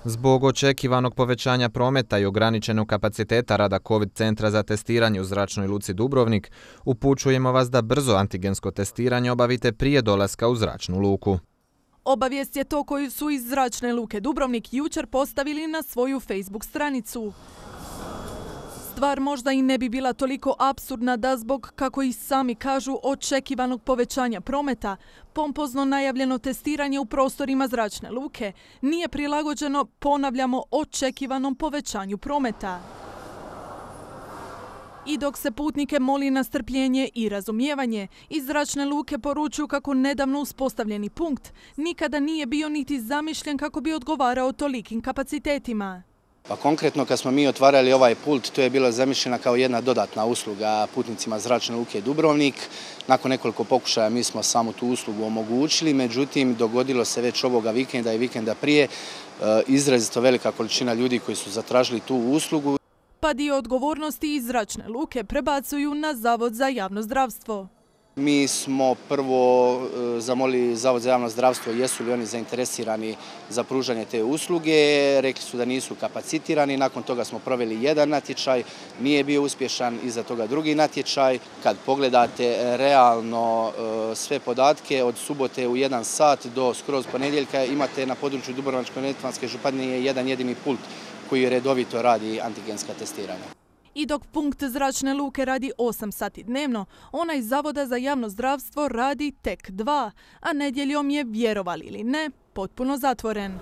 Zbog očekivanog povećanja prometa i ograničenog kapaciteta rada COVID centra za testiranje u zračnoj luci Dubrovnik, upućujemo vas da brzo antigensko testiranje obavite prije dolaska u zračnu luku. Obavijest je to koju su iz zračne luke Dubrovnik jučer postavili na svoju Facebook stranicu. Stvar možda i ne bi bila toliko apsurdna da zbog, kako i sami kažu, očekivanog povećanja prometa, pompozno najavljeno testiranje u prostorima zračne luke nije prilagođeno, ponavljamo, očekivanom povećanju prometa. I dok se putnike moli na strpljenje i razumijevanje, iz zračne luke poručuju kako nedavno uspostavljeni punkt nikada nije bio niti zamišljen kako bi odgovarao tolikim kapacitetima. Pa konkretno kad smo mi otvarali ovaj pult, to je bilo zamišljena kao jedna dodatna usluga putnicima zračne luke Dubrovnik. Nakon nekoliko pokušaja mi smo samo tu uslugu omogućili, međutim dogodilo se već ovoga vikenda i vikenda prije izrazito velika količina ljudi koji su zatražili tu uslugu. Pa dio odgovornosti iz zračne luke prebacuju na Zavod za javno zdravstvo. Mi smo prvo zamolili Zavod za javno zdravstvo jesu li oni zainteresirani za pružanje te usluge. Rekli su da nisu kapacitirani. Nakon toga smo proveli jedan natječaj, nije bio uspješan, iza toga drugi natječaj. Kad pogledate realno sve podatke od subote u 1 sat do skroz ponedjeljka imate na području Dubrovačko-neretvanske županije jedan jedini pult koji redovito radi antigenska testiranja. I dok punkt zračne luke radi 8 sati dnevno, onaj Zavoda za javno zdravstvo radi tek 2, a nedjeljom je, vjerovali ili ne, potpuno zatvoren.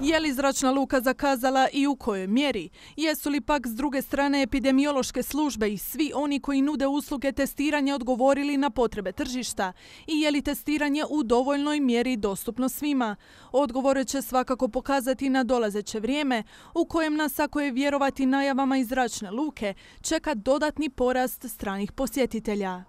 Je li zračna luka zakazala i u kojoj mjeri? Jesu li pak s druge strane epidemiološke službe i svi oni koji nude usluge testiranja odgovorili na potrebe tržišta? I je li testiranje u dovoljnoj mjeri dostupno svima? Odgovore će svakako pokazati na dolazeće vrijeme, u kojem nas, ako je vjerovati najavama iz zračne luke, čeka dodatni porast stranih posjetitelja.